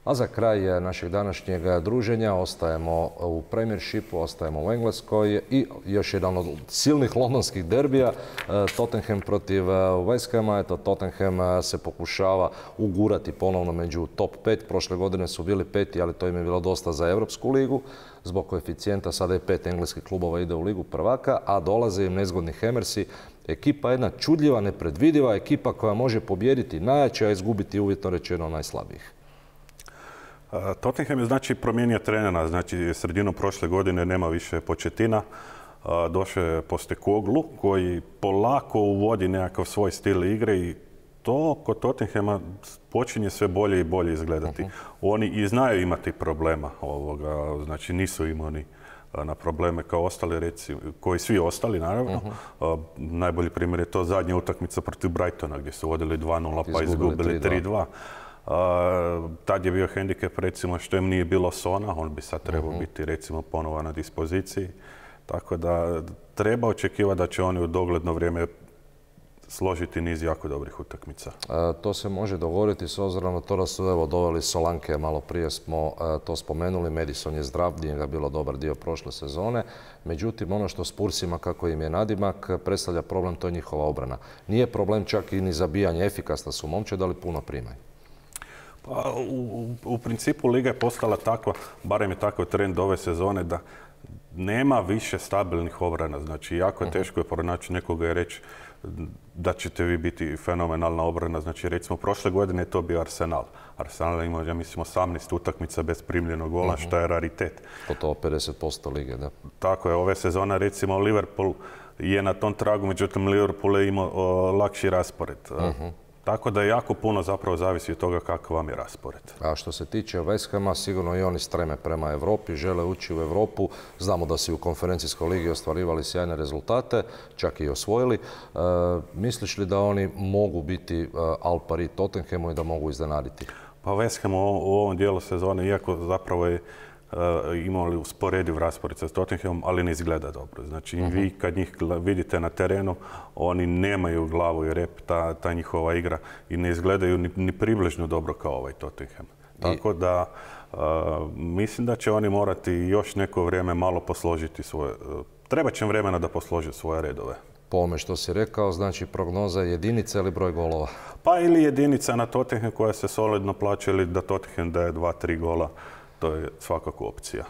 A za kraj našeg današnjeg druženja ostajemo u Premiershipu, ostajemo u Engleskoj i još jedan od silnih londonskih derbija, Tottenham protiv West Hama. Eto, Tottenham se pokušava ugurati ponovno među top 5. Prošle godine su bili 5. ali to im je bilo dosta za Europsku ligu. Zbog koeficijenta sada je 5 engleskih klubova ide u ligu prvaka, a dolaze im nezgodni Hammersi. Ekipa jedna čudljiva, nepredvidiva ekipa koja može pobijediti najjače, a izgubiti uvjetno rečeno najslabijih. Tottenham je znači promijenio trenera, znači sredinom prošle godine nema više Početina, došao je Postecoglou koji polako uvodi nekakav svoj stil igre i to kod Tottenhama počinje sve bolje i bolje izgledati. Oni i znaju imati problema, znači nisu imuni na probleme kao ostali, recimo, koji svi ostali naravno. Najbolji primjer je to zadnja utakmica protiv Brightona gdje su vodili 2:0 pa izgubili 3:2. Tad je bio hendikep recimo što im nije bilo Sona, on bi sad trebao biti recimo ponovo na dispoziciji. Tako da treba očekivati da će oni u dogledno vrijeme složiti niz jako dobrih utakmica. To se može dogoditi s obzirom na to da su doveli Solanke, malo prije smo to spomenuli, Madison je zdrav, nije ga bilo dobar dio prošle sezone. Međutim, ono što Spursima, kako im je nadimak, predstavlja problem, to je njihova obrana. Nije problem čak i ni zabijanje, efikasna su momčad, ali puno primaju. Pa, u principu Liga je postala takva, barem je takav trend ove sezone, da nema više stabilnih obrana. Znači, jako je teško pronaći nekoga i reći da ćete vi biti fenomenalna obrana. Znači, recimo, prošle godine je to bio Arsenal. Arsenal ima, ja mislim, 18 utakmica bez primljenog gola, što je raritet. Gotovo 50% lige, da. Tako je, ove sezone, recimo, Liverpool je na tom tragu, međutim, Liverpool je imao lakši raspored. Tako da jako puno zapravo zavisi od toga kakav vam je raspored. A što se tiče West Hama, sigurno i oni streme prema Europi, žele ući u Europu. Znamo da su u konferencijskoj ligi ostvarivali sjajne rezultate, čak i osvojili. Misliš li da oni mogu biti al pari Tottenhamu i da mogu iznenaditi? Pa West Ham u ovom dijelu sezone, iako zapravo je imali usporediv raspored sa Tottenhamom, ali ne izgleda dobro. Znači, vi kad njih vidite na terenu, oni nemaju glavu i rep, ta njihova igra, i ne izgledaju ni približno dobro kao ovaj Tottenham. Tako da mislim da će oni morati još neko vrijeme malo posložiti svoje... Treba će im vremena da poslože svoje redove. Po ovome što si rekao, znači prognoza jedinica ili broj golova? Pa ili jedinica na Tottenham koja se solidno plaća ili da Tottenham daje 2-3 gola. To je svakako opcija.